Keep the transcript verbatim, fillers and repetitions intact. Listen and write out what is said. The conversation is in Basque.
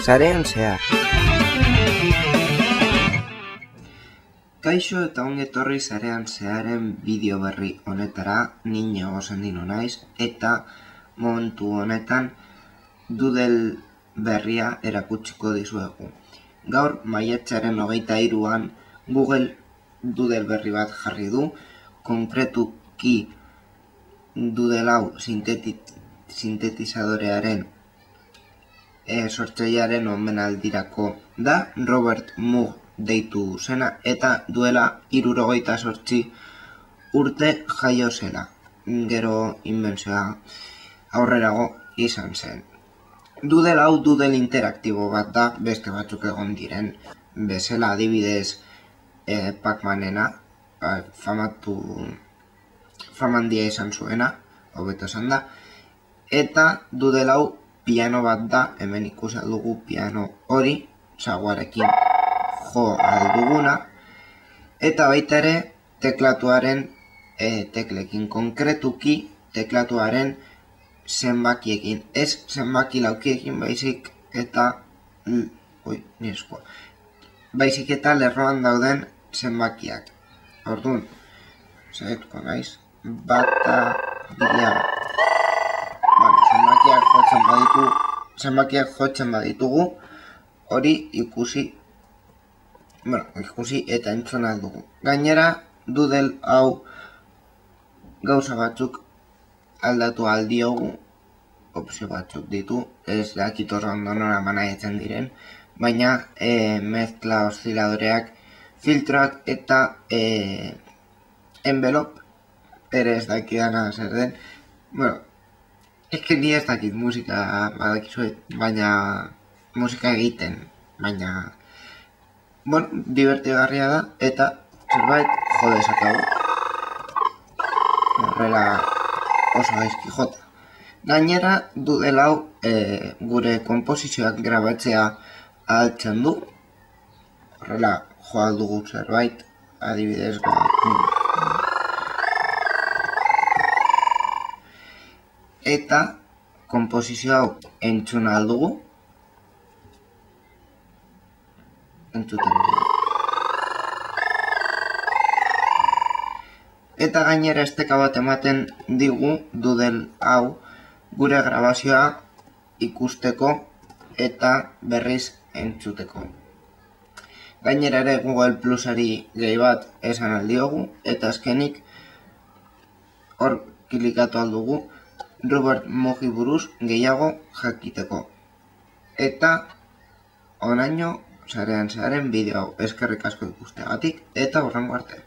Sarean zehar. Kaixo eta ongi etorri Sarean Zeharen bideo berri honetara, ni Iñigo Sendino naiz, eta momentu honetan Doodle berria erakutsiko dizuegu. Gaur, maiatzaren hogeita hiruan Google Doodle berri bat jarri du, konkretuki Doodle hau sintetizadorearen e, sortzailearen omenaldirako da, Robert Moog deitu zena, eta duela hirurogeita zortzi urte jaio zela. Gero inbentzioa aurrerago izan zen. Doodle hau Doodle interaktibo bat da, beste batzuk egon diren bezala, adibidez eh, Pac-Manena, famatu famandia izan zuena, hobeto esan da, eta Doodle hau piano bat da, hemen ikusi dugu piano hori, saguarekin jo alduguna, eta baita ere teklatuaren e, teklekin, konkretuki teklatuaren zenbakiekin, ez zenbaki laukiekin baizik eta ui, nireskoa, baizik eta lerroan dauden zenbakiak. Orduan, zaituko naiz, bata bila, bueno, zenbakiak jotzen baditu, zenbakiak jotzen baditugu, hori ikusi, bueno, ikusi eta entzun aldugu. Gainera, Doodle hau gauza batzuk aldatu aldiogu, opzio batzuk ditu, ez dakit horra ondo nora manaiatzen diren, baina e, mezkla osziladoreak, filtroak eta e, envelop, ere ez dakidana zer den. Bueno, eske ni ez dakit musika badakizuet, baina musika egiten, baina bueno, divertigarria da, eta zerbait jo dezakegu. Horrela oso gaizki jota. Gainera, Doodle hau e, gure konposizioak grabatzea ahaltzen du. Horrela jo aldugu zerbait, adibidez eta konposizio hau entzun aldugu. Entzuten dugu. Eta gainera esteka bat ematen digu Doodle hau gure grabazioa ikusteko eta berriz entzuteko. Gainera ere Google Plusari gehi bat esan aldiogu, eta azkenik hor klikatu aldugu Robert Moogi buruz gehiago jakiteko. Eta honaino Sarean Zeharen bideo hau eskerrik asko ikusteagatik, eta hurrengo arte.